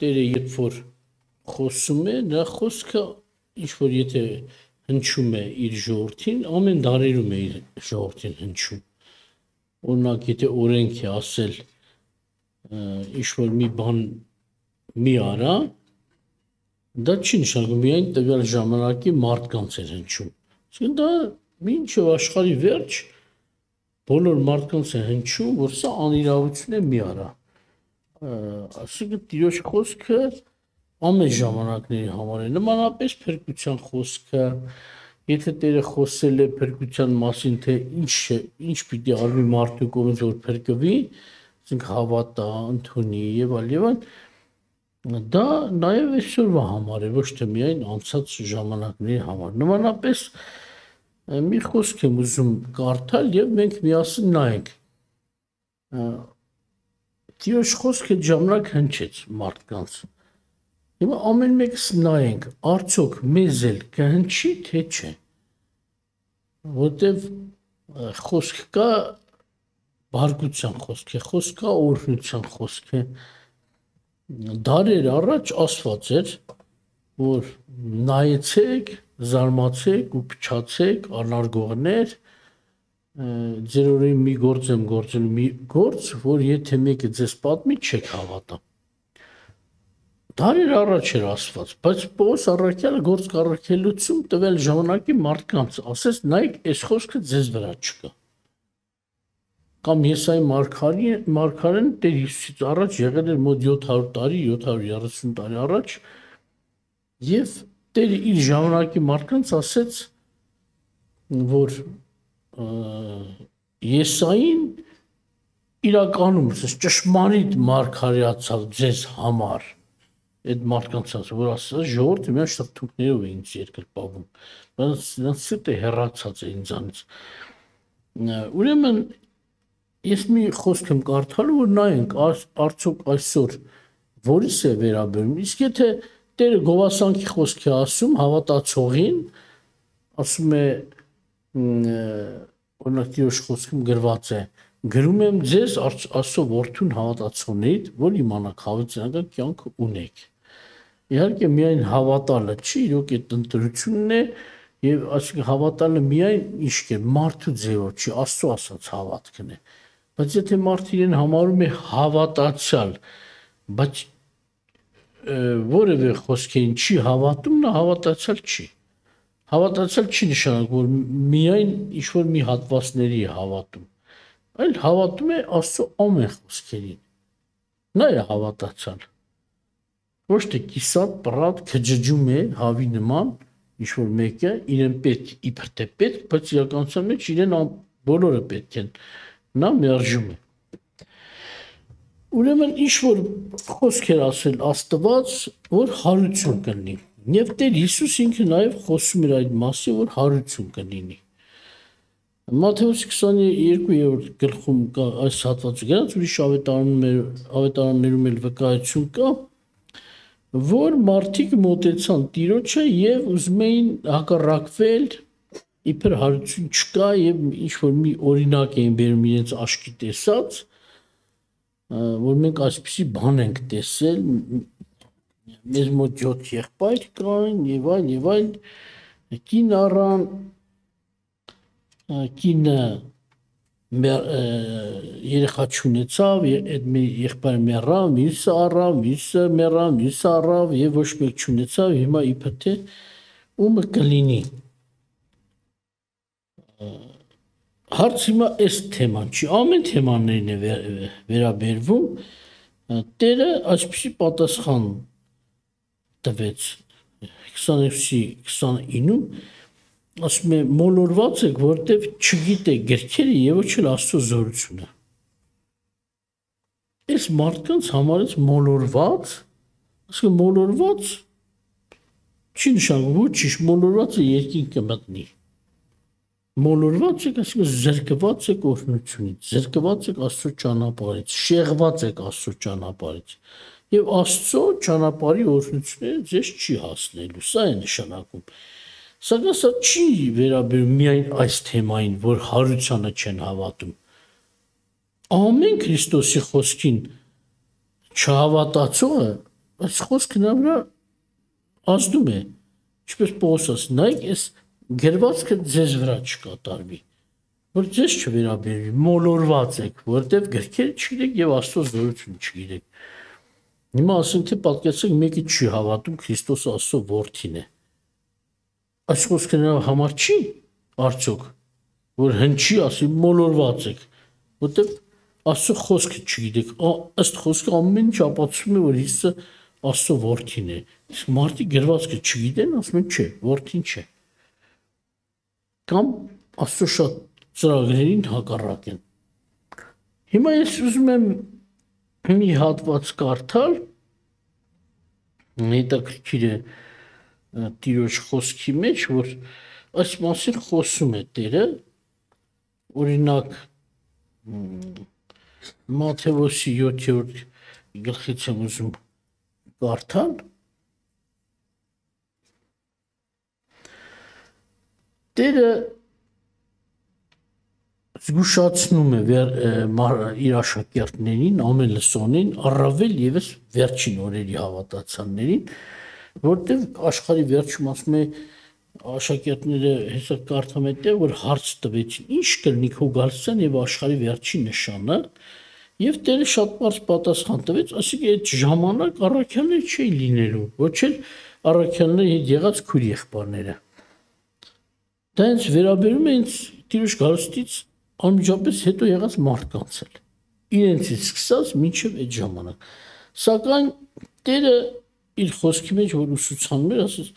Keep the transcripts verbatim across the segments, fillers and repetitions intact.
Տերը երբ որ խոսում է, նա խոսքը ինչ որ եթե հնչում է իր ժողովրդին, ամեն դարերում է իր ժողովրդին հնչում։ Օրինակ, եթե օրենք է ասել ինչ որ մի բան մի արա, դա չի նշանակում միայն տվյալ ժամանակի մարդկանց էր հնչում։ Իսկ դա մինչև աշխարհի վերջ բոլոր մարդկանց է հնչում, որ սա անիրավություն է մի արա։ Այսինքն Տիրոջ խոսքը ամեն ժամանակների համար է, նմանապես փրկության խոսքը, եթե Տերը խոսել է փրկության մասին, թե ինչ է, ինչ պիտի արվի մարդու կողմից որ փրկվի, ասենք հավատա, ընդունի եւ այլ եւ այլ, դա նաեւ այսօրվա համար է, ոչ թե միայն անցած ժամանակների համար։ Նմանապես մի խոսք եմ ուզում կարդալ եւ մենք միասին նայենք։ Տիրոջ խոսքը ժամանակ հնչեց մարդկանց։ Հիմա ամեն մեկս նայենք, արդյոք մեզ էլ կհնչի, թե չէ։ Որտեւ խոսք կա բարգության խոսք է, խոսք կա օրհնության խոսք է։ Դարեր առաջ ասված էր, որ նայեցեք, զարմացեք ու փչացեք, անարգողներ, ձեր օրին մի գործ եմ գործել, մի գործ, որ եթե մեկը ձեզ պատմի, չեք հավատա։ Դարեր առաջ էր ասված, բայց Պողոս առաքյալը գործ կառաքելություն տվել ժամանակի մարդկանց, ասես նայեք, այս խոսքը ձեզ վրա չկա։ Կամ Եսայի մարգարեն Տեր Հիսուսից առաջ եղել էր մոտ յոթ հարյուր տարի, յոթ հարյուր երեսուն տարի առաջ, եւ Տերը իր ժամանակի մարդկանց ասեց, որ Եսային իրականում ճշմարիտ մարգարեացավ ձեզ համար։ Այդ մարդկանց ասած, որ ասած ժողովուրդը միայն շրթունքներով է ինձ երկրպավում, բայց նրանց սիրտը հեռացած է ինձանից։ Ուրեմն ես մի խոսք եմ կարդալու, որ նայենք արդյոք այսօր որից է վերաբերում, իսկ եթե Տերը գովասանքի խոսք է ասում հավատացողին, ասում է օրինակ Տիրոջ խոսքում գրված է, գրում եմ ձեզ Աստծո որդուն հավատացողներից, որ իմանաք հավիտենական կյանք ունեք։ Իհարկե միայն հավատալը չի, իրոք այդ ընտրությունն է եւ այսինքն հավատալը միայն ինչ է, մարդու ձևով չի, Աստծո ասած հավատքն է։ Բայց եթե մարդը իրեն համարում է հավատացյալ, բայց որևէ խոսքին չի հավատում, նա հավատացյալ չի։ Հավատացյալ չի նշանակում, որ միայն ինչ որ մի հատվածների է հավատում, այլ հավատում է Աստծո ամեն խոսքերին։ Նա է հավատացյալ։ Ոչ թե կիսատ, պռատ, քջջում է հավի նման, ինչ որ մեկը իրեն պետք, իբր թե պետք, բայց իրականության մեջ իրեն բոլորը պետք են։ Նա մերժում է։ Ուրեմն ինչ որ խոսք էր ասել Աստված, որ հարություն կլինի։ Եվ Տեր Հիսուս ինքը նաև խոսում էր այդ մասին, որ հարություն կլինի։ Մատթեոս քսաներկու գլխում կա այս հատվածը գրած, ուրիշ ավետարաններում էլ վկայություն կա, որ մարդիկ մոտեցան Տիրոջը եւ ուզում էին հակառակվել, իբր հարություն չկա եւ ինչ որ մի օրինակ էին բերում իրենց աչքի տեսած, որ մենք այսպիսի բան ենք տեսել, մեզ մոտ յոթ եղբայր կային եւ այլ եւ այլ, կին առան, կինը երեխա չունեցավ, այդ մի եղբայրը մեռավ, մյուսը առավ, մյուսը մեռավ, մյուսը առավ եւ ոչ մեկ չունեցավ, հիմա իբր թե ումը կլինի։ Հարց հիմա այս թեման չի, ամեն թեմաներին է վերաբերվում, Տերը այսպիսի պատասխան տվեց քսաներկու քսանինում, ասում է մոլորված եք, որտեվ չգիտեք գրքերը եւ ոչ էլ Աստծո զորությունը։ Այս մարդկանց համարից մոլորված, ասում մոլորված չի նշանակում, ոչինչ, մոլորվածը երկինք կմտնի։ Մոլորված եք, այսինքն զրկված եք օրհնությունից, զրկված եք Աստծո ճանապարհից, շեղված եք Աստծո ճանապարհից։ Եվ Աստծո ճանապարհի օրհնությունները ձեզ չի հասնելու, սա է նշանակում։ Սակայն սա չի վերաբերում միայն այս թեմային, որ հարությանը չեն հավատում։ Ամեն Քրիստոսի խոսքին չհավատացողը այս խոսքը նա վրա ազդում է, ինչպես Պողոս, նայեք, այս գրվածքը ձեզ վրա չկատարվի, որ ձեզ չվերաբերվի, մոլորված եք, որտեվ գրքերը չգիտեք եւ Աստծո զորությունը չգիտեք։ Հիմա ասենք թե պատկերացրեք մեկը չի հավատում Քրիստոսը Աստծո որդին է։ Այս խոսքը նրա համար չի արդյոք, որ հնչի, ասի մոլորված եք, որտեվ Աստծո խոսքը չգիտեք, ըստ խոսքը ամեն ինչ ապացուցում է, որ Հիսուսը Աստծո որդին է։ Իսկ մարդիկ գրվածքը չգիտեն, ասում են չէ, որդին չէ։ Կամ Աստծո շատ ծրագրերին հակառակ են։ Հիմա ես ուզում եմ մի հատված կարդալ, հետաքրքիր է Տիրոջ խոսքի մեջ, որ այս մասին խոսում է Տերը, օրինակ Մատթեոսի յոթերորդ գլխից եմ ուզում կարդալ, Տերը զգուշացնում է իր աշակերտներին, ամեն լսոնին, առավել ևս վերջին օրերի հավատացյալներին, որտեղ աշխարհի վերջում ասում է աշակերտները հեսա կարդամ է, որ հարց տվեցին, ինչ կլինի քո գալստյան եւ աշխարհի վերջի նշանը, եւ Տերը շատ բարձ պատասխան տվեց, ասիկա այդ ժամանակ առաքյալներ չէին լինելու, ոչ էլ առաքյալների հետ եղած քույր եղբայրները։ Դա ինձ վերաբերում է ինձ Տիրոջ գալստից անմիջապես հետո եղած մարդկանց էլ, իրենցից սկսած մինչև այդ ժամանակ։ Սակայն Տերը իր խոսքի մեջ որ ուսուցանում էր, ասես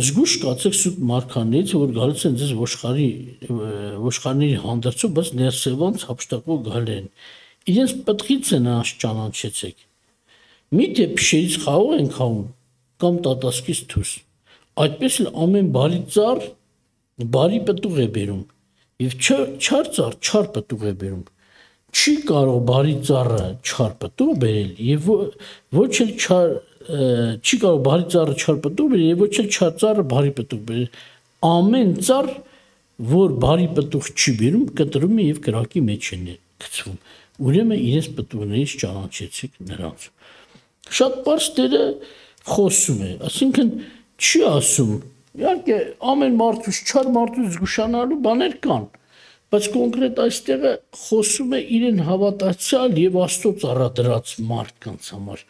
զգուշ կացեք սուտ մարգարեներից, որ գալիս են ձեզ ոչխարի ոչխարների հանդերձով, բայց ներսևանց հափշտակող գալ են։ Իրենց պտղից են նրանց ճանաչեցեք։ Միթե փշերից խաղող են խաղում կամ տատասկից դուրս։ Այդպես էլ ամեն բարի ծառ բարի պտուղ է բերում, եւ չար ծառ չար պտուղ է բերում։ Չի կարող բարի ծառը չար պտուղ բերել եւ ոչ էլ չար չի կարող բարի ծառը չար պտուղ բերել եւ ոչ էլ չար ծառը բարի պտուղ բերել։ Ամեն ծառ, որ բարի պտուղ չի բերում, կտրում է եւ կրակի մեջ է գցվում։ Ուրեմն իրենց պտուղներից ճանաչեցիք նրանց։ Շատ բարձ Տերը խոսում է, ասինքն չի ասում, իհարկե ամեն մարդուց չար մարդուց զգուշանալու բաներ կան, բայց կոնկրետ այստեղը խոսում է իրեն հավատացյալ եւ Աստծո ծառադրած մարդկանց համար։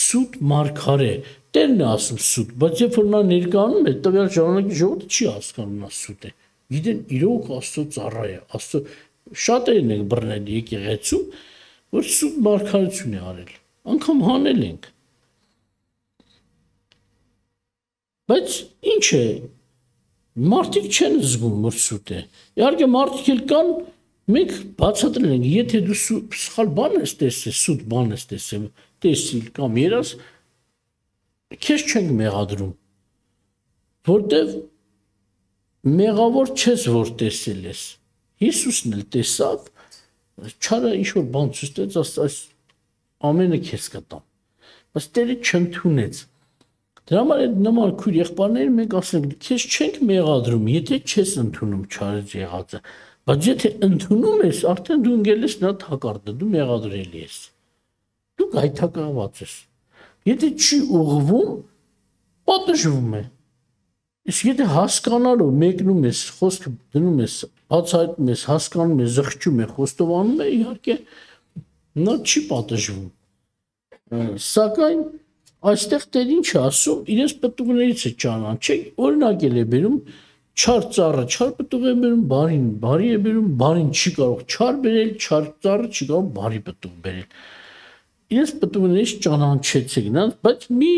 Սուտ մարգարե, Տերն է ասում սուտ, բայց երբ որ նա ներկայանում է, տվյալ ժամանակի ժողովուրդը չի հասկանում նա սուտ է։ Գիտեն իրոք Աստծո ծառա է, Աստծո շատերն են բռնել եկեղեցու, որ սուտ մարգարություն է արել, անգամ հանել ենք։ Բայց ինչ է, մարդիկ չեն զգում, որ սուտ է։ Իհարկե մարդիկ էլ կան, մենք բացատրել ենք, եթե դու սխալ բան ես տեսել, սուտ բան ես տեսել, տեսիլ կամ երաս, քեզ չենք մեղադրում, որտեվ մեղավոր չես, որ տեսել ես։ Հիսուսն էլ տեսավ, չարը ինչ-որ բան ցույց տվեց, այս ամենը քեզ կտամ, բայց Տերը չընդունեց։ Դրա համար այդ նման քույր եղբայրները մենք ասենք, քեզ չենք մեղադրում, եթե չես ընդունում չարից եղածը, բայց եթե ընդունում ես, արդեն դու ընկել ես նրա թակարդը, դու մեղադրելի ես։ Դու գայթակղված ես։ Եթե չի ուղղվում, պատժվում է։ Իսկ եթե հասկանալով մեկնում ես, խոսքը դնում ես, բացահայտում ես, հասկանում ես, զղջում է, խոստովանում է, իհարկե նա չի պատժվում։ Սակայն այստեղ Տեր ինչ է ասում, իրենց պտուղներից է ճանաչեք, օրինակ է բերում, չար ծառը չար պտուղ է բերում, բարին բարի է բերում, բարին չի կարող չար բերել, չար ծառը չի կարող բարի պտուղ բերել։ Իրենց պտուղներից ճանաչեցեք նրանց, բայց մի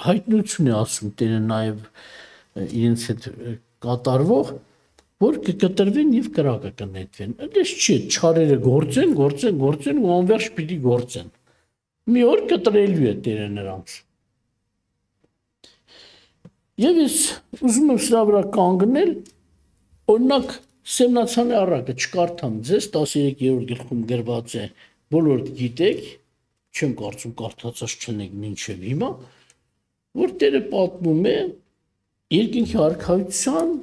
հայտնություն է ասում Տերը նաև իրենց հետ կատարվող, որ կկտրվեն եւ կրակը կնետվեն։ Այդպես չի, չարերը գործեն, գործեն, գործեն ու անverջ պիտի գործեն։ Մի օր կտրելու է Տերը նրանց։ Եվ ես ուզում եմ սրա վրա կանգնել, օրինակ Սեմնացանի առակը չկարդամ ձեզ, տասներեքերորդ գլխում գրված է, բոլորդ գիտեք, չեմ կարծում կարդացած չնեք մինչև հիմա, որ Տերը պատմում է երկինքի արքայության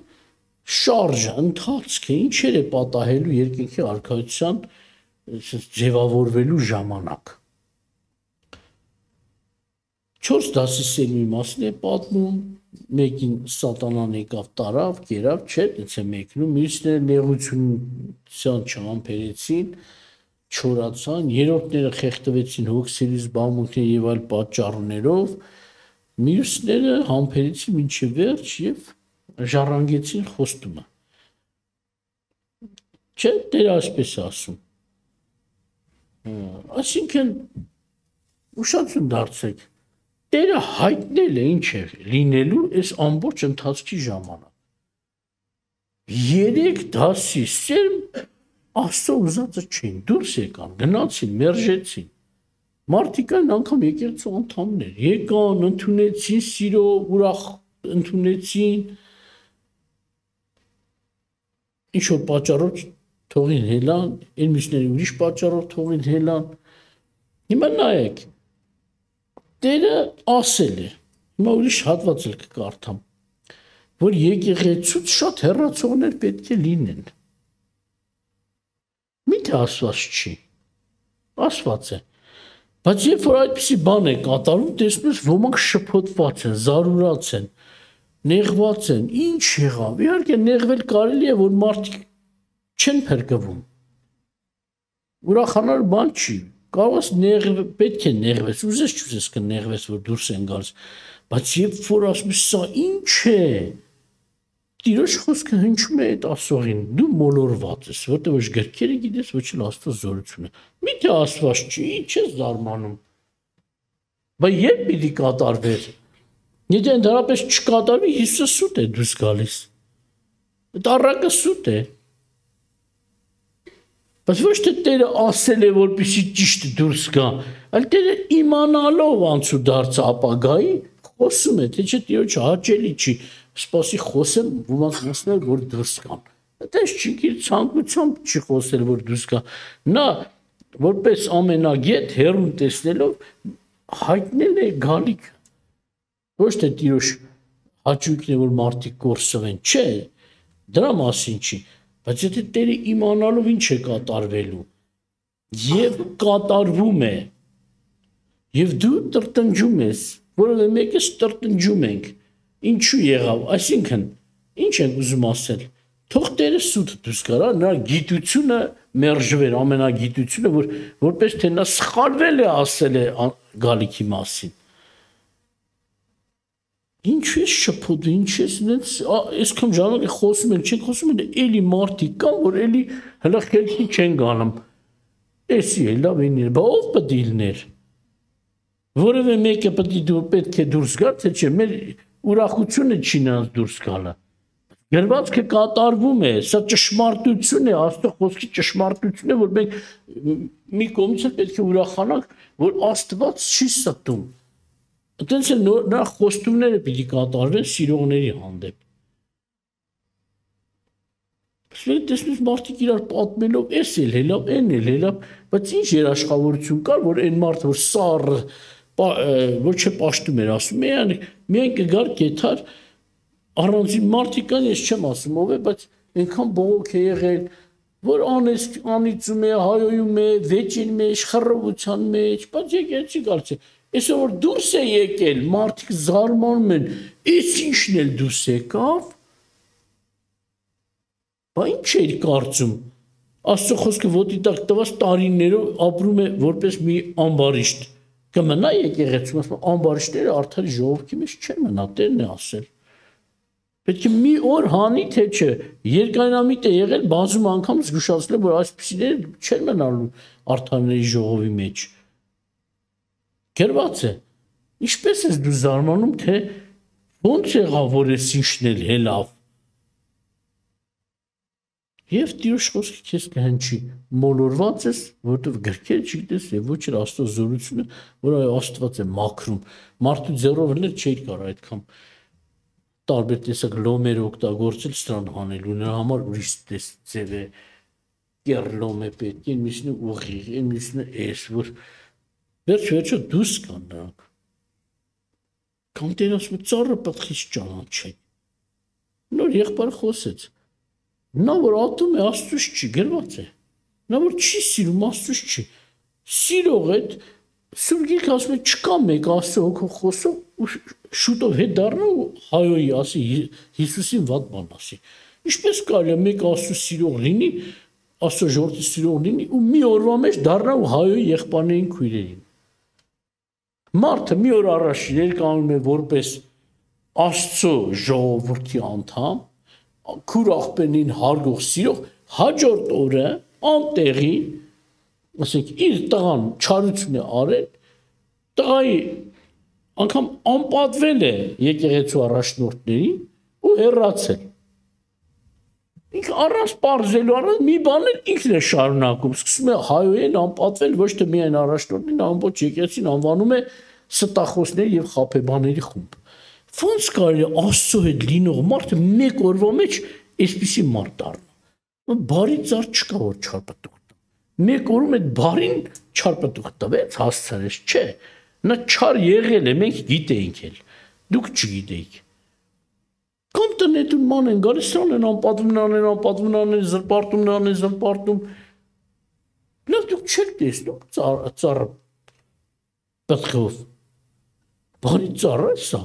շարժը, ընթացքը, ինչեր է պատահելու երկինքի արքայության ձևավորվելու ժամանակ։ չորս դասի սերմի մասին է պատմում, մեկին սատանան եկավ տարավ, կերավ, չէ, դից է մեկնում, մյուսները նեղությունության չամփերեցին, չորացան, երրորդները խեղդվեցին հոգսերի զբաղմունքների եւ այլ պատճառներով, մյուսները համբերեցին մինչև վերջ եւ ժառանգեցին խոստումը։ Չէ, Տերը այսպես է ասում։ Այսինքն ուշադրություն դարձեք, Տերը հայտնել է ինչ է լինելու այս ամբողջ ընթացքի ժամանակ։ Երեք դասի սերմ Աստծո ուզածը չէին, դուրս եկան, գնացին, մերժեցին։ Մարդիկ այն անգամ եկեղեցու անդամներ եկան, ընդունեցին սիրով, ուրախ ընդունեցին։ Ինչ որ պատճառով թողին հելան, այն մյուսների ուրիշ պատճառով թողին հելան։ Հիմա նայեք, Տերը ասել է, հիմա ուրիշ հատված էլ կկարդամ, որ եկեղեցուց շատ հեռացողներ պետք է լինեն։ Միթե ասված չի, ասված է, բայց երբ որ այդպիսի բան է կատարում, տեսնում ես ոմանք շփոթված են, զարուրած են, նեղված են, ինչ եղավ, իհարկե նեղվել կարելի է, որ մարդիկ չեն փրկվում։ Ուրախանալ բան չի, կարող ես նեղվել, պետք է նեղվես, ուզես չուզես կնեղվես, որ դուրս են գալիս, բայց երբ որ ասում ես, սա ինչ է, Տիրոջ խոսքը հնչում է այդ ասողին, դու մոլորված ես, որտեղ ոչ գրքերը գիտես, ոչ էլ Աստծո զորությունը։ Միթե ասված չի, ինչ ես զարմանում։ Բայց երբ պիտի կատարվեր։ Եթե ընդհանրապես չկատարվի, Հիսուսը սուտ է դուրս գալիս։ Այդ առակը սուտ է։ Բայց ոչ թե Տերը ասել է, որպեսզի ճիշտ դուրս գա, այլ Տերը իմանալով անցուդարձ ապագայի խոսում է, թե չէ Տիրոջը հաճելի չի, սպասի խոսեմ, ոմանց ասել, որ դուրս գան։ Այդպես չի իր ցանկությամբ չի խոսել, որ դուրս գա։ Նա որպես ամենագետ հերուն տեսնելով հայտնել է գալիք։ Ոչ թե Տիրոջ հաճույքն է, որ մարդիկ կորսվեն, չէ, դրա մասին չի, բայց եթե Տերը իմանալով ինչ է կատարվելու եւ կատարվում է եւ դու տրտնջում ես, որովհետեւ մեկս տրտնջում ենք, ինչու եղավ, այսինքն ինչ ենք ուզում ասել, թող Տերը սուտ դուրս գարա, նրա գիտությունը մերժվեր, ամենագիտությունը, որ որպես թե նա սխալվել է ասել է գալիքի մասին։ Ինչու է շփոթ, ինչ է այնց այսքան ժամանակ խոսում են, չեն խոսում են, էլի մարդիկ կան, որ էլի հələ խելքի չեն գանում։ Էսի է լավ ինի, բա ով պետք է լիներ։ Որևէ մեկը պետք է դուրս գա, թե չէ, մեր ուրախությունը չի նրանց դուրս գալը։ Գրվածքը կատարվում է, սա ճշմարտություն է, Աստծո խոսքի ճշմարտություն է, որ մենք մի կողմից պետք է ուրախանանք, որ Աստված չի ստում։ Այդպես էլ նրա խոստումները պիտի կատարվեն սիրողների հանդեպ։ Մենք տեսնենք մարդիկ իրար պատմելով, էս էլ հելավ, այն էլ հելավ, բայց ինչ երաշխավորություն կար, որ այն մարդը, որ սառը, ոչ է պաշտում էր ասում, միայն կգար կեթար, առանձին մարդիկ կան, ես չեմ ասում ով է, բայց այնքան բողոք է եղել, որ անիծում է, հայոյում է, վեճին մեջ, խռովության մեջ, բայց եկեղեցի գալիս է։ Այսօր որ դուրս է եկել, մարդիկ զարմանում են, այս ինչն էլ դուրս եկավ, բա ինչ էր կարծում, Աստծո խոսքը ոտի տակ տված տարիներով ապրում է որպես մի ամբարիշտ, կմնա եկեղեցում, ասում ամբարիշտները արդարի ժողովքի մեջ չեն մնա, Տերն է ասել։ Պետք է մի օր հանի, թե չէ, երկայնամիտ է եղել, բազում անգամ զգուշացնել, որ այսպիսիները չեն մնալու արդարների ժողովի մեջ։ Գրված է, ինչպես ես դու զարմանում, թե ոնց եղավ, որ ես ինչն էլ հելավ։ Եվ Տիրոջ խոսքը քեզ կհնչի, մոլորված ես, որովհետև գրքերը չգիտես եւ ոչ էլ Աստծո զորությունը, որ Աստված է մաքրում։ Մարդու ձեռով էլ չէր կարող այդքան տարբեր տեսակ լոմեր օգտագործել սրան հանելու, նրա համար ուրիշ ձև է, կեռ լոմ է պետք, այն մյուսն է ուղիղ, այն մյուսն է էս, որ վերջ-վերջը դուրս կան նրանք։ Կամ Տերը ասում է ծառը պտղից ճանաչի։ Նոր եղբայրը խոսեց։ Նա որ ատում է Աստծուց չի, գրված է։ Նա որ չի սիրում Աստծուց չի։ Սիրող այդ Սուրբ Գիրքը ասում է չկա մեկ Աստծո հոգով խոսող ու շուտով հետ դառնա ու հայոյի ասի Հիսուսին վատ բան ասի։ Ինչպես կարելի է մեկ Աստծո սիրող լինի, Աստծո ժողովրդի սիրող լինի ու մի օրվա մեջ դառնա ու հայոյի եղբայրներին քույրերին։ Մարդը մի օր առաջ ներկայանում է որպես Աստծո ժողովրդի անդամ, քուր աղբերին հարգող սիրող, հաջորդ օրը անտեղի ասենք իր տղան չարություն է արել, տղայի անգամ անպատվել է եկեղեցու առաջնորդներին ու հեռացել։ Ինքը առանց պարզելու առանց մի բան էլ ինքն է շարունակում, սկսում է հայոյեն անպատվել ոչ թե միայն առաջնորդին, ամբողջ եկեղեցին անվանում է ստախոսների եւ խաբեբաների խումբ։ Ոնց կարելի է Աստծո հետ լինող մարդը մեկ օրվա մեջ այսպիսի մարդ դառնա։ Բարի ծառ չկա որ չարպտուղ մեկ օրում այդ բարին չարպտուղ տվեց հասցրեց, չէ, նա չար եղել է, մենք գիտեինք էլ, դուք չգիտեիք։ Կամ տնետուն ման են գալիս, սան են անպատվում անեն, անպատվում անեն, զրպարտում անեն, զրպարտում։ Լավ դուք չեք տեսնում ծառը պտղով։ Բարի ծառ է սա։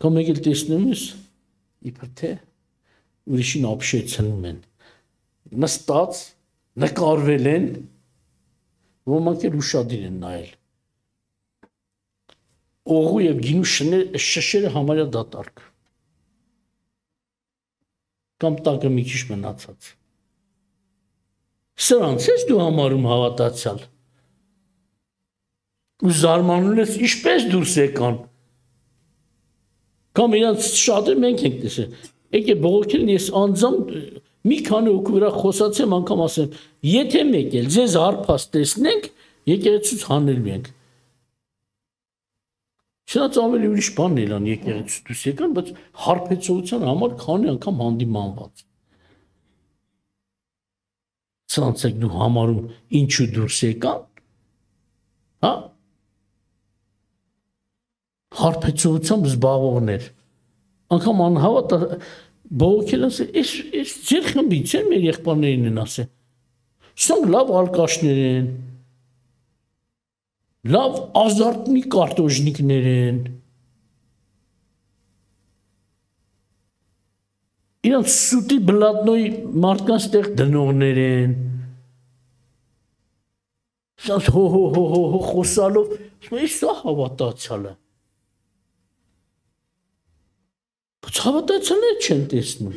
Կամ եկել տեսնում ես, իբր թե ուրիշին ապշեցնում են, նստած, նկարվել են, ոմանք էլ ուշադիր են նայել։ Օղու և գինու շշերը համարյա դատարկ։ Կամ տակը մի քիչ մնացած։ Սրանց ես դու համարում հավատացյալ։ Ու զարմանում ես ինչպես դուրս եկան։ Կամ իրանց շատը մենք ենք տեսել։ Եկե բողոքելն ես անձամբ մի քանի հոգու վրա խոսացեմ անգամ ասեմ, եթե մեկ էլ ձեզ հարբած տեսնենք, եկեղեցուց հանելու ենք։ Չնայած ավելի ուրիշ բան ելան եկեղեցուց դուրս եկան, բայց հարբեցողության համար քանի անգամ հանդիմանված։ Սրանց եք դու համարում ինչու դուրս եկան, հա։ Հարբեցողությամբ զբաղողներ։ Անգամ անհավատ բողոքել ասել, այս ձեր խմբից են մեր եղբայրներին են ասել։ Սրանք լավ ալկաշներ են, լավ ազարտնի կարտոժնիկներ են։ Իրանց սուտի բլատնոյի մարդկանց տեղ դնողներ են։ Սրանց հո հո հո հո հո խոսալով, այս սա հավատացյալ է։ Բայց հավատացյալները չեն տեսնում։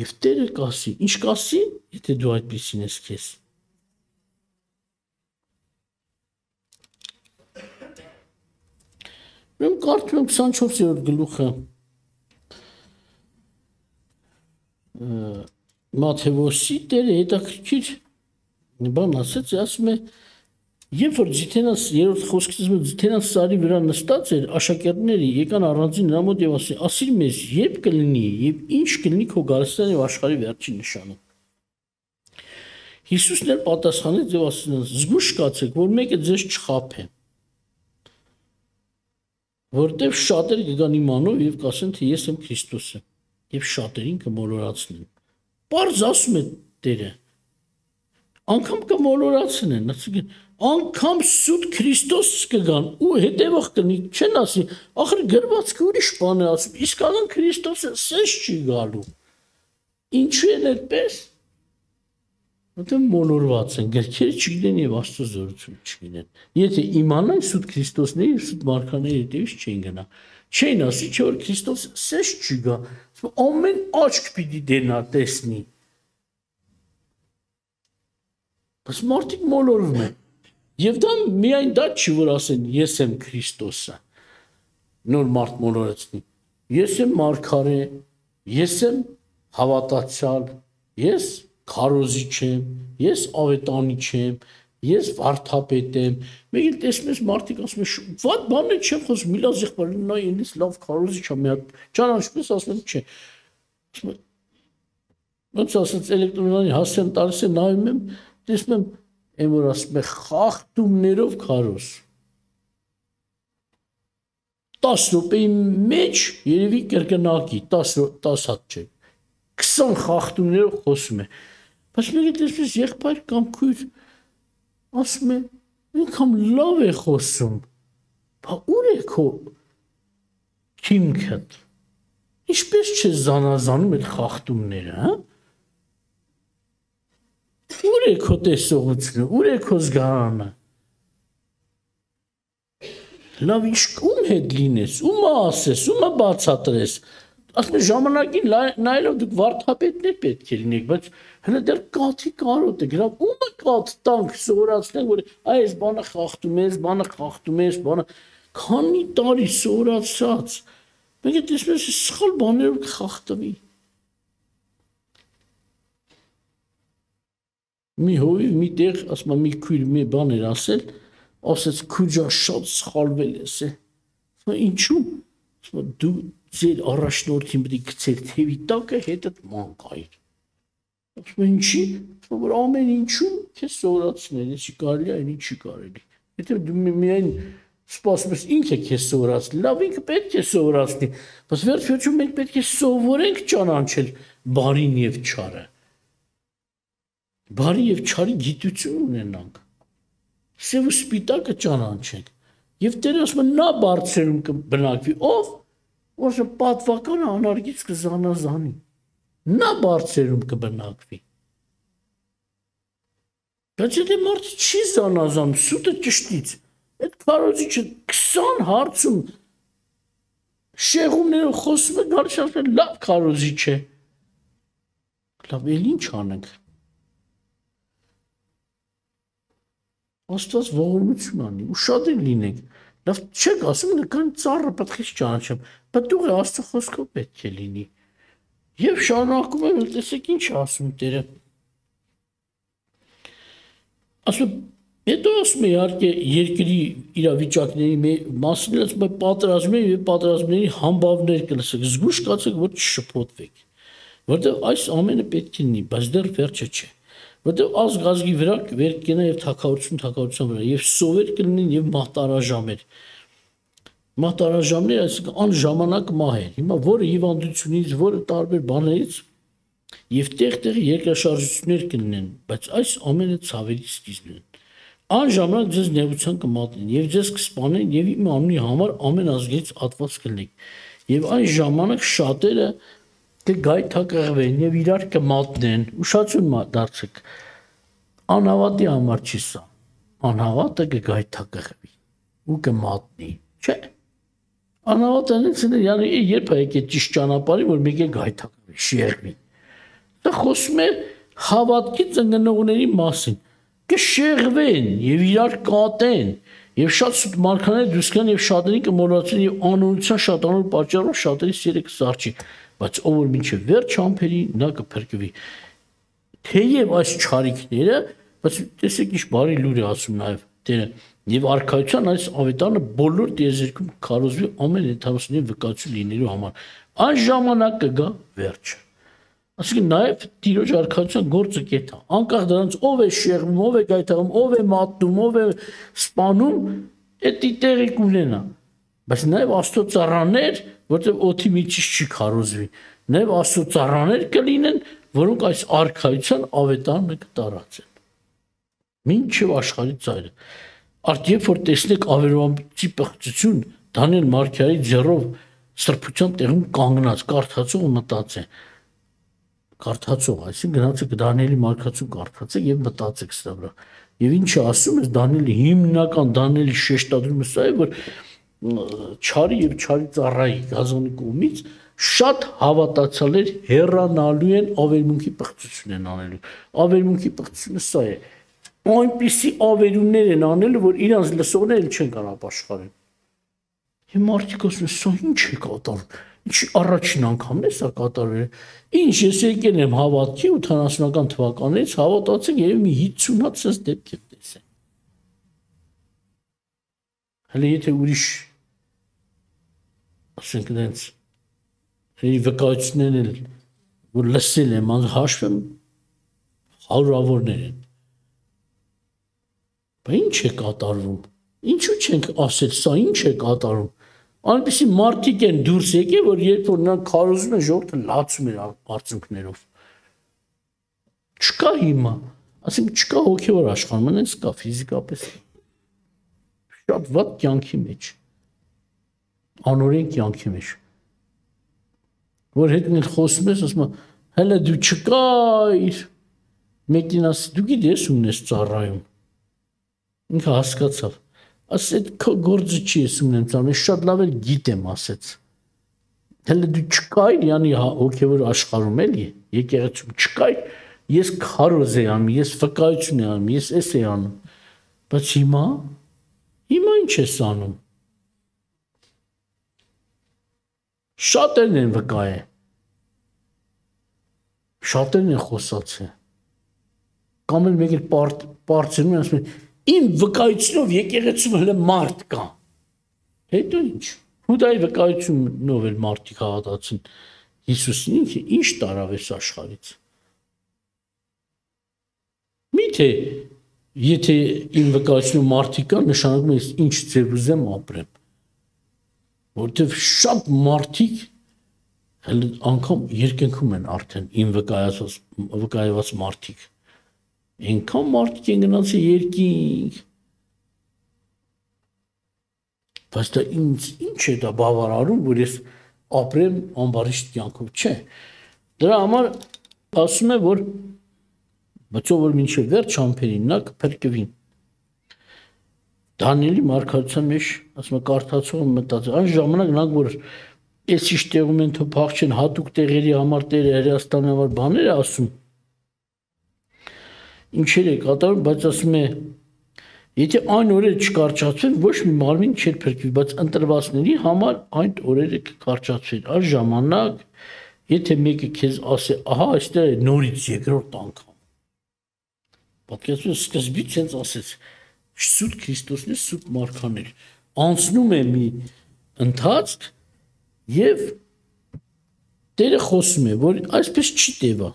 Եվ Տերը կասի, ինչ կասի, եթե դու այդպիսին ես քեզ։ Ուրեմն կարդում եմ քսանչորսերորդ գլուխը Մատթեոսի Տերը հետաքրքիր բան ասեց, ասում է, երբ որ Ձիթենաս երրորդ խոսքից Ձիթենաս սարի վրա նստած էր, աշակերտները եկան առանձին նրա մոտ եւ ասին, ասիր մեզ, երբ կլինի եւ ինչ կլինի քո գալստան եւ աշխարհի վերջին նշանը։ Հիսուսն էլ պատասխանեց եւ ասում, զգուշ կացեք, որ մեկը ձեզ չխաբե։ Որտեւ շատեր կգան իմանով եւ կասեն, թե ես եմ Քրիստոսը, եւ շատերին կմոլորացնեն։ Պարզ ասում է Տերը։ Անկամ կմոլորացնեն, ասում անգամ սուտ Քրիստոս կգան ու հետևող կնի, չեն ասի, ախր գրվածքը ուրիշ բան է ասում, իսկական Քրիստոսը սենց չի գալու։ Ինչու են այդպես։ Որտեղ մոլորված են, գրքերը չգիտեն եւ Աստծո զորություն չգիտեն։ Եթե իմանան սուտ Քրիստոսների եւ սուտ մարգարեների հետևից չեն գնա։ Չեն ասի, չէ որ Քրիստոսը սենց չի գա, ամեն աչք պիտի դենա տեսնի։ Բայց մարդիկ մոլորվում են։ Եվ դա միայն դա չի, որ ասեն, ես եմ Քրիստոսը, նոր մարդ մոլորեցնի, ես եմ մարգարե, ես եմ հավատացյալ, ես քարոզիչ եմ, ես ավետանիչ եմ, ես վարդապետ եմ, մեկ էլ տեսնում ես մարդիկ ասում են, վատ բան է չեմ խոսում, մի լավ եղբայր, նա ինձ լավ քարոզիչ է, մի հատ ճանաչպես ասում եմ, չէ։ Ոնց ասած էլեկտրոնային հասցեն տալիս է նայում եմ, տեսնում եմ Այն որ ասում է խախտումներով քարոզ։ տաս րոպեի մեջ երևի կրկնակի, տաս հատ չէ, քսան խախտումներով խոսում է։ Բայց մեկ էլ տեսնես եղբայր կամ քույր ասում է ինքան լավ է խոսում, բա ուր է քո քիմքդ, ինչպես չէ զանազանում այդ խախտումները, հա, ուր է քո տեսողությունը, ուր է քո զգարանը, լավ ինչ ում հետ լինես, ումը ասես, ումը բացատրես, ասում ժամանակին նայելով դուք վարդապետներ պետք է լինեք, բայց հələ դեռ կաթի կարոտ եք, լավ ումը կաթ տանք սովորացնենք, որ այս բանը խախտում ես, բանը խախտում ես, բանը քանի տարի սովորացած, մենք է տեսնում ես սխալ բաներով կխախտվի։ Մի հովիվ մի տեղ, ասում մի քույր մի բան էր ասել, ասեց քուջա շատ սխալվել ես է, ինչու, դու ձեր առաջնորդին պետք է գցեր թևի տակը հետդ մանկայր, ինչի, որ ամեն ինչում քեզ սովորացնել, ինչի կարելի է, ինչի կարելի, եթե դու միայն սպասում ես ինքը քեզ սովորացնի, լավ ինքը պետք է սովորացնի, բայց վերջ-վերջում մենք պետք է սովորենք ճանաչել բարին և չարը, բարի և չարի գիտություն ունենանք, սև ու սպիտակը ճանաչենք, և Տերը ասում է նա բարձրում կբնակվի, ով, որ պատվականը անարգից կզանազանի, նա բարձրում կբնակվի, բայց եթե մարդը չի զանազանում, սուտը ճշտից, այդ քարոզիչը քսան հարցում շեղումներով խոսում է, գալիս ասում է լավ քարոզիչ է, լավ էլ ինչ անենք, Աստված ողորմություն անի, ու շատ էլ լինենք, լավ չեք ասում, նկան ծառը պետք է չճանաչեմ, պտուղը Աստծո խոսքով պետք է լինի, և շարունակում եմ, տեսեք ինչ ասում Տերը, ասում, հետո ասում է իհարկե երկրի իրավիճակների մասին, ասում է պատերազմների և պատերազմների համբավներ կլսեք, զգույշ կացեք, որ չշփոթվեք, որտեղ այս ամենը պետք է լինի, բայց դեռ վերջը չէ, որտեղ ազգ ազգի վրա վեր կենա և թագավորություն թագավորության վրա, և սովեր կլինեն և մահտարաժամեր, մահտարաժամներ, այսինքն անժամանակ մահեր, հիմա որը հիվանդությունից, որը տարբեր բաներից, և տեղ-տեղ երկրաշարժություններ կլինեն, բայց այս ամենը ցավերի սկիզբն են, անժամանակ ձեզ նեղության կմատնեն, և ձեզ կսպանեն, և իմ անունի համար ամեն ազգերից ատված կլինեք, և այն ժամանակ շատերը կգայթակղվեն և իրար կմատնեն, ուշացություն դարձեք, անհավատի համար չի սա, անհավատը կգայթակղվի ու կմատնի, չէ, անհավատը երբ է եկել ճիշտ ճանապարհին, որ մեկ է գայթակղվի, շեղվի, սա խոսում է հավատքի ծնգնողների մասին, կշեղվեն և իրար կատեն, և շատ սուտ մարգարեներ դուրս գան և շատերին կմոլորեցնեն և անօրության շատանալու պատճառով շատերի սերը կսառչի, բայց ով որ մինչև վերջ համբերի, նա կփրկվի։ Թեև այս չարիքները, բայց տեսեք ինչ բարի լուր է ասում նաև Տերը, և արքայության այս ավետարանը բոլոր տիեզերքում քարոզվի ամեն ենթամասնի վկայություն լինելու համար։ Այն ժամանակ կգա վերջը։ Այսինքն նաև Տիրոջ արքայության գործը կեթա, անկախ դրանից ով է շեղվում, ով է գայթակղում, ով է մատնում, ով է սպանում, դա տեղի կունենա, բայց նաև Աստծո ծառաներ, որտեղ օդի միջից չի քարոզվի, նաև Աստծո ծառաներ կլինեն, որոնք այս արքայության ավետարանը կտարածեն։ Մինչև աշխարհի ծայրը։ Արդ երբ որ տեսնեք ավերոամբիցի պղծություն, Դանիել Մարգարեի ձեռով սրբության տեղում կանգնած, կարդացող մտածե Կարդացող, այսինքն գնացեք Դանիելի մարգարեություն կարդացեք և մտածեք սրա վրա։ Եվ ինչը ասում ես Դանիելի հիմնական Դանիելի շեշտադրումը սա է, որ չարի և չարի ծառայի գազանի կողմից շատ հավատացյալներ հեռանալու են ավերմունքի պղծություն են անելու։ Ավերմունքի պղծությունը սա է։ Այնպիսի ավերումներ են անելու, որ իրանց լսողները չեն կարող ապաշխարել։ Եվ մարդիկ ասում են, սա ինչ է կատարվում։ Ինչ առաջին անգամն է սա կատարվել։ Ինչ ես եկել եմ հավատքի ութանասունական թվականից, հավատացեք եւ մի հիսուն հատ սենց դեպք եմ տեսել։ Հələ եթե ուրիշ ասենք դենց հերի վկայություններ էլ որ լսել եմ, հաշվեմ հարյուրավորներ են։ Բայց ինչ է կատարվում։ Ինչու չենք ասել, սա ինչ է կատարվում։ Այնպիսի մարդիկ են դուրս եկել, որ երբ որ նրանք քարոզում են, ժողովուրդը լացում էր արցունքներով։ Չկա հիմա։ Ասենք չկա հոգևոր աշխարհում, այնպես կա ֆիզիկապես։ Շատ վատ կյանքի մեջ։ Անօրեն կյանքի մեջ։ Որ հետն էլ խոսում ես, ասում եմ, հələ դու չկայր։ Մեկին ասի, դու գիտես ումն ես ծառայում։ Ինքը հասկացավ։ Ասես այդ քո գործը չի ես ումն եմ ծառայում, շատ լավ էլ գիտեմ, ասեց։ Հələ դու չկայր, yani հոգևոր աշխարհում էլի, եկեղեցում չկայր, ես քարոզ եմ անում, ես վկայություն եմ անում, ես էս եմ անում։ Բայց հիմա հիմա ինչ ես անում։ Շատերն են վկայել։ Շատերն են խոսացել։ Կամ էլ մեկ էլ բարձրում են ասում են, իմ վկայությունով եկեղեցում հələ մարդ կա։ Հետո ինչ։ Հուդայի վկայությունով էլ մարդիկ հավատացին Հիսուսին, ինքը ինչ տարավ էս աշխարհից։ Միթե եթե իմ վկայությունով մարդիկ կան, նշանակում է ինչ ձև ուզեմ ապրեմ։ Որտեվ շատ մարդիկ հələ անգամ երկնքում են արդեն իմ վկայած վկայված մարդիկ։ Այնքան մարդիկ են գնացել երկինք։ Բայց դա ինձ ինչ է դա բավարարում, որ ես ապրեմ ամբարիշտ կյանքով, չէ։ Դրա համար ասում է, որ բայց ով որ մինչև վերջ համբերին նա կփրկվին։ Դանիելի մարգարության մեջ ասում է կարդացողը մտածել, այն ժամանակ նա որ այս ինչ տեղում են թող փախչեն հատուկ տեղերի համար Տերը հրեաստանի համար բաներ է ասում։ Ինչեր է կատարում, բայց ասում է եթե այն օրերը չկարճացվեն, ոչ մի մարմին չէր փրկվի, բայց ընտրվածների համար այն օրերը կկարճացվեն։ Այս ժամանակ, եթե մեկը քեզ ասի, ահա այստեղ է նորից երկրորդ անգամ։ Պատկերացրու սկզբից հենց ասեց, սուտ Քրիստոսն է, սուտ մարգաներ։ Անցնում է մի ընթացք եւ Տերը խոսում է, որ այսպես չի տևա։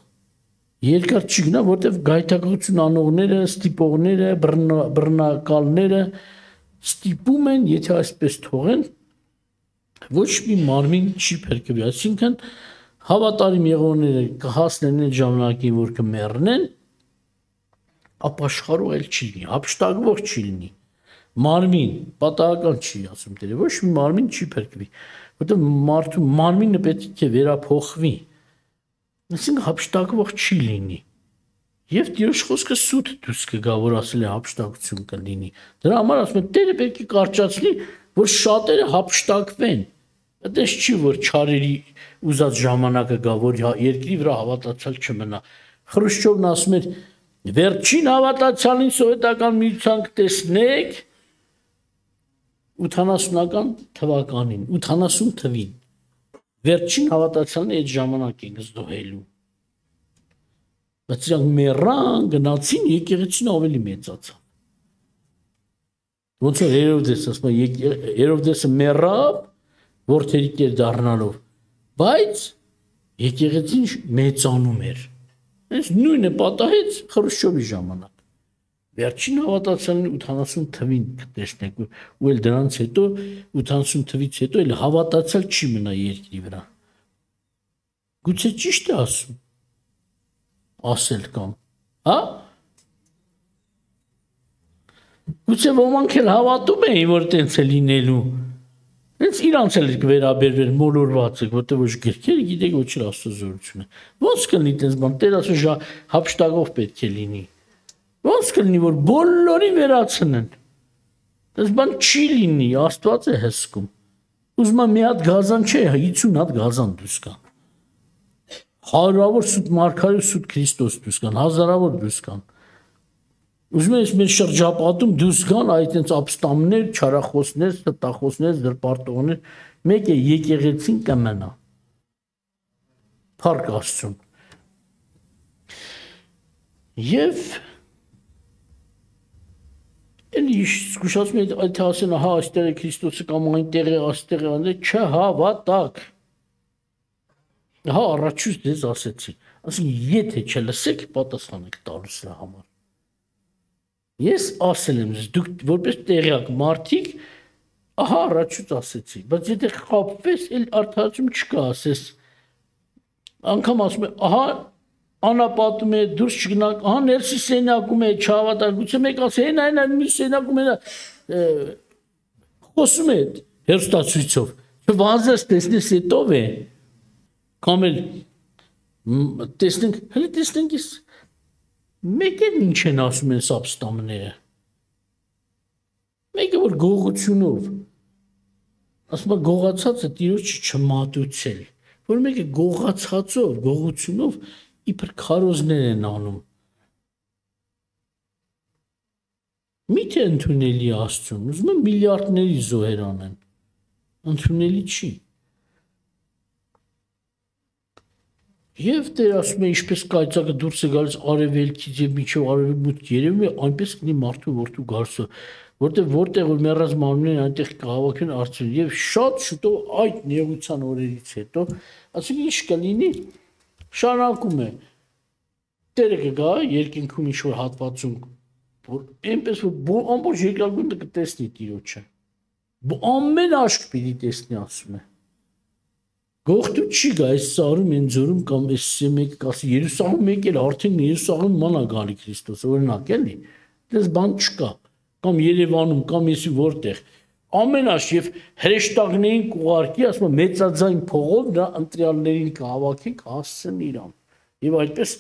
Երկար չի գնա, որտեվ գայթակղություն անողները, ստիպողները, բռնակալները ստիպում են, եթե այսպես թողեն, ոչ մի մարմին չի փրկվի, այսինքն հավատարիմ եղողները կհասնեն այդ ժամանակին, որ կմեռնեն, ապաշխարող էլ չի լինի, հափշտակվող չի լինի, մարմին պատահական չի, ասում Տերը, ոչ մի մարմին չի փրկվի, որտեվ մարդու մարմինը պետք է վերափոխվի։ Այսինքն հափշտակվող չի լինի։ Եվ Տիրոջ խոսքը սուտ դուրս կգա, որ ասել է հափշտակություն կլինի։ Դրա համար ասում եմ, Տերը պետք է կարճացնի, որ շատերը հափշտակվեն։ Այդպես չի, որ չարերի ուզած ժամանակը գա, որ երկրի վրա հավատացյալ չմնա։ Խրուշչովն ասում էր, վերջին հավատացյալին սովետական միության կտեսնեք ութանասունական թվականին, ութանասուն թվին։ Վերջին հավատացյալն այդ ժամանակ են զոհելու։ Բայց իրանք մեռան, գնացին, եկեղեցին ավելի մեծացավ։ Ոնց որ Հերովդես, ասում է, Հերովդեսը մեռավ, որդերի տեր դառնալով, բայց եկեղեցին մեծանում էր։ Այս նույնը պատահեց Խրուշչովի ժամանակ։ Վերջին հավատացյալն ութանասուն թվին կտեսնեք, ու էլ դրանից հետո ութանասուն թվից հետո էլ հավատացյալ չի մնա երկրի վրա։ Գուցե ճիշտ է ասում։ Ասել կամ, հա? Գուցե ոմանք էլ հավատում էին, որ տենց է լինելու։ Հենց իրանց էլ կվերաբերվեր մոլորված եք, որտեղ ոչ գրքերը գիտեք, ոչ էլ աստուծորությունը։ Ոնց կլինի տենց բան, Տեր ասում հափշտակող պետք է լինի։ Ոնց կլինի, որ բոլորին վերացնեն։ Այս բան չի լինի, Աստված է հսկում։ Ուզում եմ մի հատ գազան չէ, հինգ հատ գազան դուրս կան։ Հարյուրավոր սուտ մարգարե, սուտ Քրիստոս դուրս կան, հազարավոր դուրս կան։ Ուզում եմ մեր շրջապատում դուրս կան այդ այնց ապստամբներ, չարախոսներ, ստախոսներ, զրպարտողներ, մեկը եկեղեցին կմնա։ Փառք Աստծուն։ Եվ Էլի զգուշացում է այդ ասեն, հա, այստեղ է Քրիստոսը կամ այնտեղ է, այստեղ է, այնտեղ չհավատակ։ Հա, առաջուց դες ասեցի, ասենք եթե չլսեք, պատասխան եք տալու սրա համար։ Ես ասել եմ, դուք որպես տեղյակ մարդիկ, ահա առաջուց ասեցի, բայց եթե խաբվես, էլ արդարացում չկա, ասես։ Անգամ ասում է, ահա անապատում է, դուրս չգնանք, ահա ներսի սենյակում է, չհավատալիություն, մեկ ասի, այն այն այն մի սենյակում է խոսում է հերոստացույցով, չվազես տեսնես հետով է, կամ էլ տեսնենք, հələ տեսնենք ես մեկ էլ ինչ են ասում են սաբստամները, մեկը որ գողությունով, ասում է գողացածը տիրոջը չմատուցել, որ մեկը գողացածով, գողությունով իբր քարոզներ են անում, միթե ընդունելի Աստծուն, ուզում են միլիարդների զոհեր անեն, ընդունելի չի, և Տեր ասում է, ինչպես կայծակը դուրս է գալիս արևելքից և մինչև արևմուտք երևում է, այնպես կլինի մարդու որդու գալուստը, որտեղ որտեղ որ մեռած մարմիններն այնտեղ կհավաքվեն արծիվ և շատ շուտով այդ նեղության օրերից հետո, ասենք ինչ կլինի, շարունակում է, Տերը կգա երկինքում ինչ-որ հատվածում, որ այնպես որ ամբողջ երկրագնդը կտեսնի Տիրոջը, ամեն աշկ պիտի տեսնի, ասում է, գողտու չի գա, այս սարում են ձորում կամ այս մեկը կասի, Երուսաղեմ մեկ էլ արդեն Երուսաղեմ ման է գալի Քրիստոս, օրինակ էլի, դες բան չկա, կամ Երևանում, կամ եսի որտեղ, ամեն աշկ և հրեշտակներին կուղարկի, ասում է մեծաձայն փողով նա ընտրյալներին կհավաքենք, հասցեն իրան, և այդպես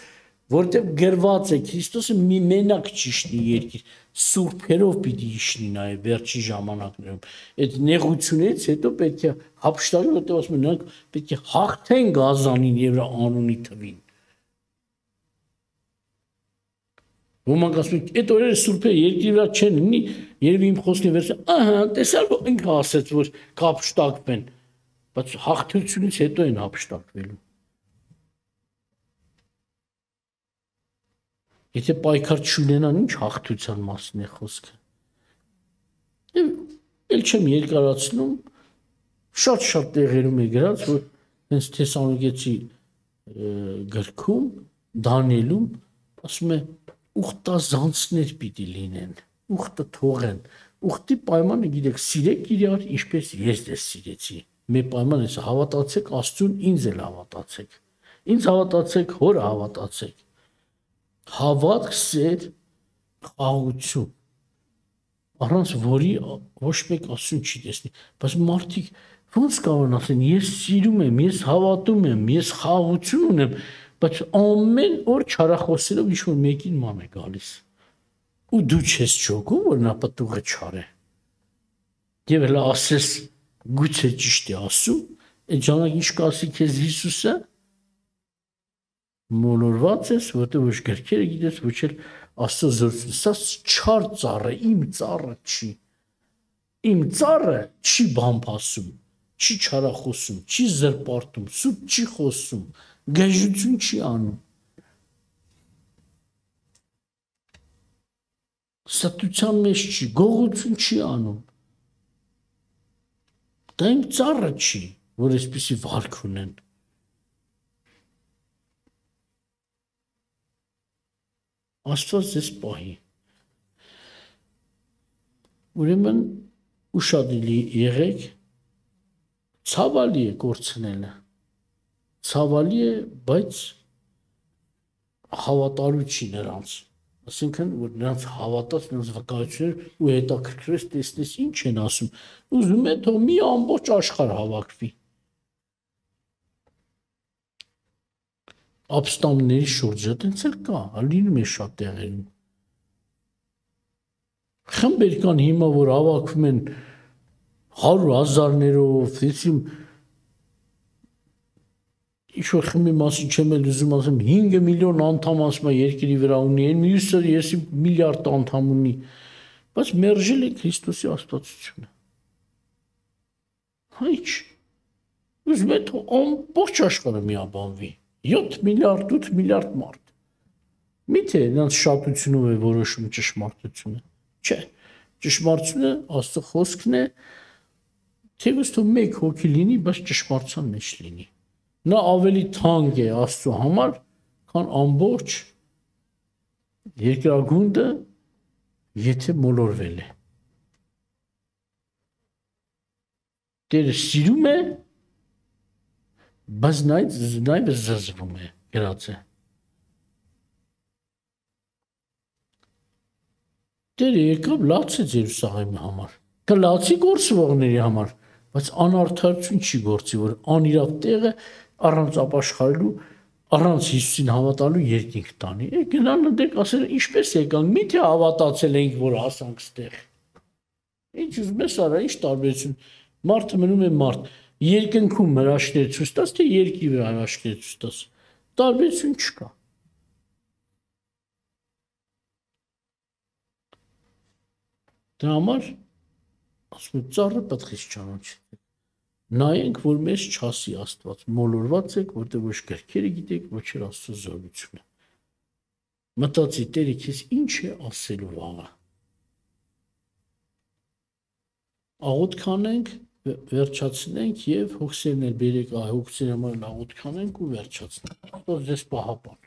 որտեղ գրված է Քրիստոսը մի մենակ ճիշտի երկիր, սուրբերով պիտի իշնի նաև վերջի ժամանակներում, այդ նեղությունից հետո պետք է հափշտակի, որտեղ ասում են նրանք պետք է հաղթեն գազանին և նրա անունի թվին։ Ոմանք ասում են, այդ օրերը սուրբերը երկրի վրա չեն լինի, երևի իմ խոսքին վերցրել, ահա, տեսար, որ ինքը ասեց, որ կհափշտակվեն, բայց հաղթությունից հետո են հափշտակվելու։ Եթե պայքար չունենան, ինչ հաղթության մասին է խոսքը։ Էլ չեմ երկարացնում, շատ-շատ տեղերում է գրած, որ հենց Թեսաղոնիկեցի գրքում, Դանիելում, ասում է, ուխտազանցներ պիտի լինեն, ուխտը թողեն, ուխտի պայմանը գիտեք, սիրեք իրար, ինչպես ես դες սիրեցի, մեր պայման ես, հավատացեք Աստծուն, ինձ էլ հավատացեք, ինձ հավատացեք, հորը հավատացեք, հավատք, սեր, խաղաղություն, առանց որի ոչ մեկ Աստծուն չի տեսնի, բայց մարդիկ ոնց կարող են ասեն, ես սիրում եմ, ես հավատում եմ, ես խաղաղություն ունեմ, բայց ամեն օր չարախոսելով ինչ-որ մեկին ման է գալիս, ու դու չես չոգում, որ նա պտուղը չար է, և հլա ասես գուցե ճիշտ է ասում, այդ ժամանակ ինչ կասի քեզ Հիսուսը, մոլորված ես, որտեղ ոչ գրքերը գիտես, ոչ էլ Աստծո զորություն, սա չար ծառ է, իմ ծառը չի, իմ ծառը չի բամբասում, չի չարախոսում, չի զրպարտում, սուտ չի խոսում, գժություն չի անում, ստության մեջ չի, գողություն չի անում, դա իմ ծառը չի, որ այսպիսի վարք ունեն, Աստված ձեզ պահի, ուրեմն ուշադիր եղեք, ցավալի է կորցնելը, ցավալի է, բայց հավատարու չի նրանց, ասենքն, որ նրանց հավատաց, նրանց վկայություններ ու հետաքրքրես տեսնես ինչ են ասում, ուզում է թող մի ամբողջ աշխարհ հավաքվի, ապստամբների շուրջը տենց էլ կա, լինում է շատ տեղերում, խմբեր կան հիմա, որ հավաքվում են հարյուր հազարներով, ինչ-որ խմբի մասին չեմ էլ ուզում ասեմ, հինգ միլիոն անդամ ասում է երկրի վրա ունի, այն մյուսը եսի միլիարդ անդամ ունի, բայց մերժել է Քրիստոսի աստվածությունը, հա ինչ, ուզում է թող ամբողջ աշխարհը միաբանվի, յոթ միլիարդ, ութ միլիարդ մարդ, միթե նրանց շատությունով է որոշում ճշմարտությունը, չէ, ճշմարտությունը Աստծո խոսքն է, թեւս թող մեկ հոգի լինի, բայց ճշմարտության մեջ լինի, նա ավելի թանկ է Աստծո համար, քան ամբողջ երկրագունդը, եթե մոլորվել է, Տերը սիրում է, բայց նաև զզվում է, գրած է, Տերը եկավ լաց է ձեր սաղի համար։ Կլացի գործվողների համար, բայց անարդարություն չի գործի, որ անիրավ տեղը առանց ապաշխարելու, առանց Հիսուսին հավատալու երկինք տանի։ Է գնան դեք ասել ինչպես եկանք, միթե հավատացել ենք, որ հասանք ստեղ։ Ինչ ուզում ես արա, ինչ տարբերություն։ Մարդը մնում է մարդ։ Երկնքում հրաշքներ ցույց տաս, թե երկի վրա հրաշքներ ցույց տաս։ Տարբերություն չկա։ Դրա համար ասում եմ ծառը պատխից ճանաչի։ Նայենք, որ մեզ չասի Աստված, մոլորված եք, որտեղ ոչ գրքերը գիտեք, ոչ էլ Աստծո զորությունը։ Մտածի Տերը քեզ ինչ է ասելու վաղը։ Աղոթ կանենք, վերջացնենք եւ հոգսերն էլ բերեք, այ հոգսերի համար աղոթ կանենք ու վերջացնենք։ Աստված ձեզ պահապան։